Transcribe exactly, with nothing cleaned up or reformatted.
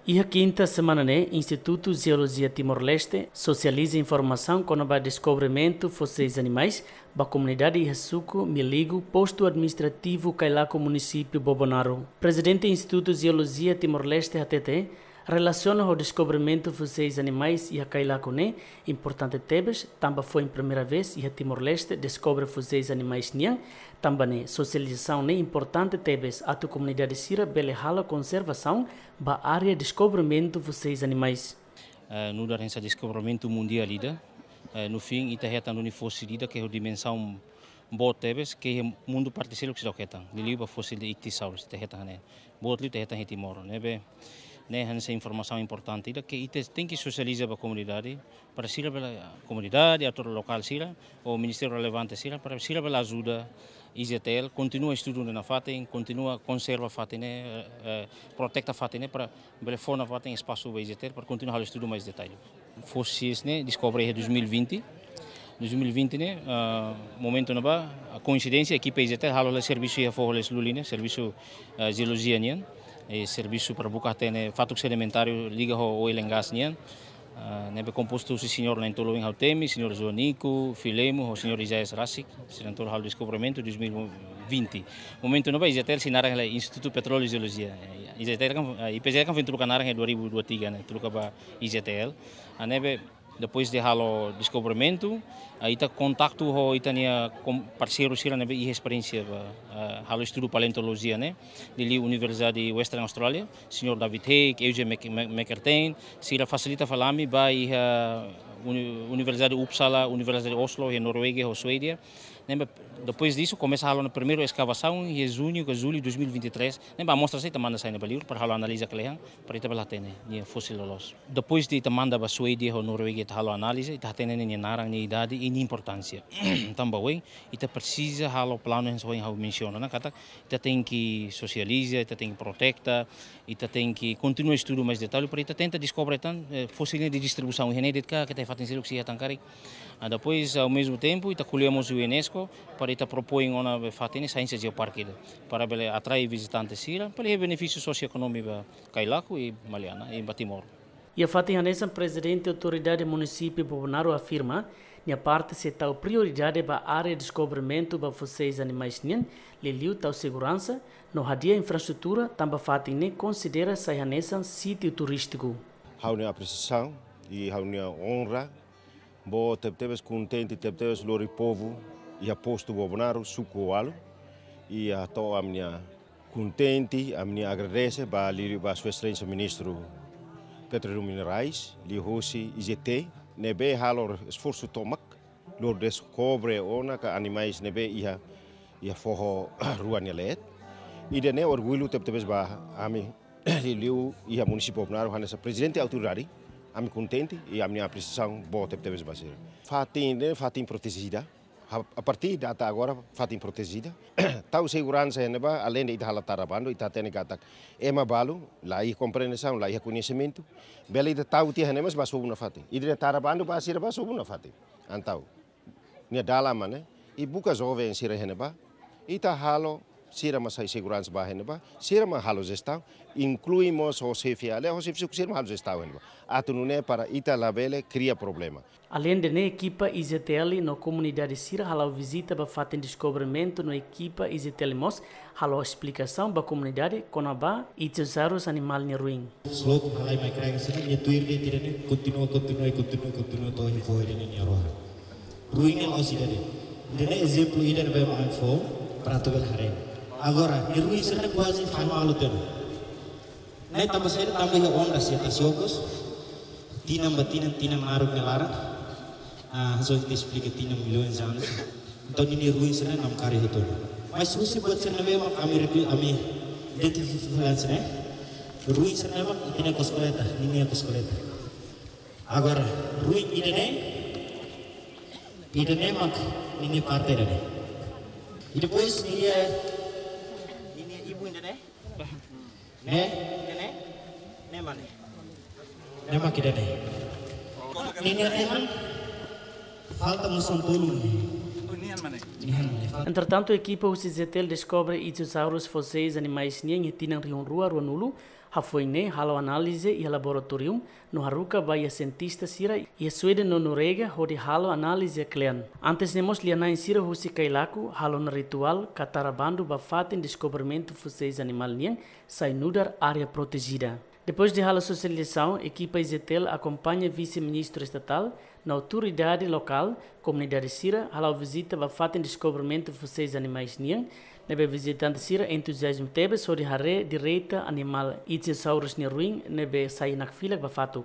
Iha kinta semana ne'e, Institutu Jeolojia Timor-Leste sosializa informasaun kona-ba deskobrimentu fóseis animais ba komunidade iha suku Miligo, postu administrativu Cailaco, munisípiu Bobonaro. Prezidente Institutu Jeolojia Timor-Leste hatete, relasiona ho deskobrimentu fóseis animais iha Cailaco ne'e importante tebes, tanba foin primeira vez iha Timor-Leste deskobre fóseis animais nian, tanba ne'e sosializasaun ne'e importante tebes atu komunidade sira bele halo konservasaun ba área deskobrimentu fóseis animais. Eh, nu'udar hanesan deskobrimentu mundiál ida, eh, no fim, ita hetan duni fósil ida ke ho dimensaun boot tebes, ke iha mundu parte seluk seidauk hetan. Liuliu ba fósil de Ichthyosaurus, ita hetan ne'e. Boot liu ita hetan iha Timor. Ne'ebé, ne'e hanesan informasaun importante ida ke ita tenke sosializa ba komunidade, para sira bele, komunidade, atór lokál sira, ou ministériu relevante sira, para sira bele ajuda I Z T L, kontinua estudu nafatin, kontinua konserva fatin ne'e, eh, eh, proteta fatin ne'e, para bele fó nafatin espasu ba I Z T L, para kontinua halo estudu mais detalhe. Fóseis ne'e deskobre iha dois mil e vinte. Dois mil e vinte ne'e, ah, momentu ne'ebá, koinsidénsia, ekipa I Z T L halo hela servisu iha foho Lesluli ne'e, servisu, ah, jeolojia nian, i servisu para buka hatene fatuk sedimentáriu liga ho oil and gas nian. Ah, ne'ebé kompostu husi señór na'in-tolu oin ha'u temi, señór Joanico, Filemo, ho señór Isaias Rasik, sira na'in-tolu halo deskobrimentu dois mil e vinte. Momentu ne'ebá I Z T L sei naran hela Institutu Petróleu Jeolojia. Eh, I Z T L kan, eh, I P J kan foin troka naran iha dua ribu dua tiga ne'e, troka ba I Z T L. Ah, ne'ebé, depois de halo deskobrimentu, ah, ita kontaktu ho ita-nia kom-, parseiru sira ne'ebé iha esperiénsia ba, ah, halo estudu paleontolojia ne'e, liuliu Universidade Western Australia, señór David Haig, Eugene Mc-, Mc-, McEltain, sira fasilita fali ami ba iha Uni-, Universidade Uppsala, Universidade Oslo, iha Noruega, ho Suédia. Ne'ebé, depois disso, komesa halo ona primeiru eskavasaun, iha juñu ka jullu dois mil e vinte e três, ne'ebé amostra sei ita manda sai ne'ebá liur, para halo analiza kle'an, para ita bele hatene nia fósil loloos. Depois de ita manda ba Suédia ho Noruega ita halo analiza, ita hatene nia naran, nia idade i nia importánsia. Tanba oin, ita presiza halo planu hanesan ohin ha'u mensiona ona, katak ita tenke sosializa, ita tenke proteta, ita tenke kontinua estudu mais detalhe, para ita tenta deskobre tan, eh, fósil ne'e nia distribuisaun, iha ne'e de'it ka, ka iha fatin seluk sei iha tan karik. Ah, depois, ao mesmo tempo, ita ko'alia mós ho UNESCO, para ita propoin ona be fatin ne'e sainsa jeoparke ida, para bele atrai vizitante sira, para iha benefísiu sosioekonómiku ba Cailaco i Maliana, i ba Timor. Iha fatin hanesan, Prezidente Autoridade Munisípiu Bobonaro afirma, nia parte sei tau prioridade ba área deskobrimentu ba fóseis animais nian, liuliu tau seguransa, no hadi'a infraestrutura, tanba fatin ne'e konsidera sai hanesan sítiu turístiku. Ha'u-nia apresiasaun i ha'u-nia onra boot tebetebes, kontente tebetebes lori povu iha postu Bobonaro, suku Oalu, i hato'o ami-nia kontente, ami-nia agradese ba liuliu ba Sua Exelénsia Ministru Petróleu Minerais, liuhosi I Z T, ne'ebé halo esforsu tomak, lori deskobre ona ka animais ne'ebé iha, iha foho rua nia leet. Ida-ne'e orgullu tebetebes ba ami, liuliu iha munisípiu Bobonaro, hanesan prezidente autoridade, ami kontente i ami-nia apresiasaun boot tebetebes ba sira. Fatin ne'e fatin protejida. A, a partir data agora, fatin protejida. Tau seguransa iha ne'ebá, aleinde ita halo tara bandu, ita hatene katak ema balu, la iha komprensaun, la iha koñesimentu. Bele ita tau tiha iha ne'e, mas bá sobu nafatin. Ita tara bandu ba sira bá sobu nafatin. Entaun, nia dalan mak ne'e, i buka joven sira iha ne'ebá, ita halo sira mak sai seguransa ba iha ne'ebá, sira mak halo jestaun, inklui mós ho xefe aldeia, ho xefe suku, sira mak halo jestaun iha ne'ebá. Atu nune'e para ita labele kria problema. Aleinde ne'e, ekipa I Z T L no komunidade sira hala'o vizita ba fatin deskobrimentu no ekipa I Z T L mós hala'o esplikasaun ba komunidade kona-ba Ichthyosaurus animál nia ruin. Slope halai mai kraik sira, nia tuir de'it ida-ne'e, kontinua, kontinua, kontinua, kontinua to'o iha foho ida-ne'e nia rohan. Ruin ne'e la'ós ida de'it. Ida-ne'e ezemplu ida ne'ebé mak ami fó para atu bele haree. Agora, nia ruin sira-ne'e kuaze fahe malu tiha ona. Ne'e tanba saida? Tanba iha ondas, iha tasi okos, tinan ba tinan, tinan naruk nia laran. Ah, hanesan ohin ita esplika, tinan milhões de anos. Entaun, ninia ruin sira-ne'e namkari hotu ona. Mas husi buat sira ne'ebé mak ami reku-, ami identifika fali hanesan ne'e, ruin sira-ne'e mak ita-nia ekoskeleta, ninia ekoskeleta. Agora, ruin ida-ne'e, ida-ne'e mak ninia parte ida-ne'e. I depois ninia, ninia ibun ida-ne'e. Ne'e? Ne'e, ne'e? Ne'e mak ne'e. Ne'e mak ida-ne'e. Ninia nehan falta mós tolu ne'e. Entretantu, ekipa husi Zetel deskobre Ichthyosaurus fóseis animais nian iha tinan rihun rua ruanulu, hafoin ne'e halo análize iha laboratóriu, no haruka ba iha sientista sira iha Suéde no Noruega hodi halo análize kle'an. Antes ne'e mós lia-na'in sira husi Kailaku halo ona rituál katara bandu ba fatin deskobrimentu fóseis animál nian sai nu'udar área protejida. Depois de halo sosializasaun, ekipa Zetel akompaña vise-ministru estatál no autoridade lokál, komunidade sira, hala'o vizita ba fatin deskobrimentu fóseis animais nian, ne'ebé vizitante sira entuziazmu tebes hodi haree direta animál Ichthyosaurus nia ruin ne'ebé sai nakfilak ba fatuk.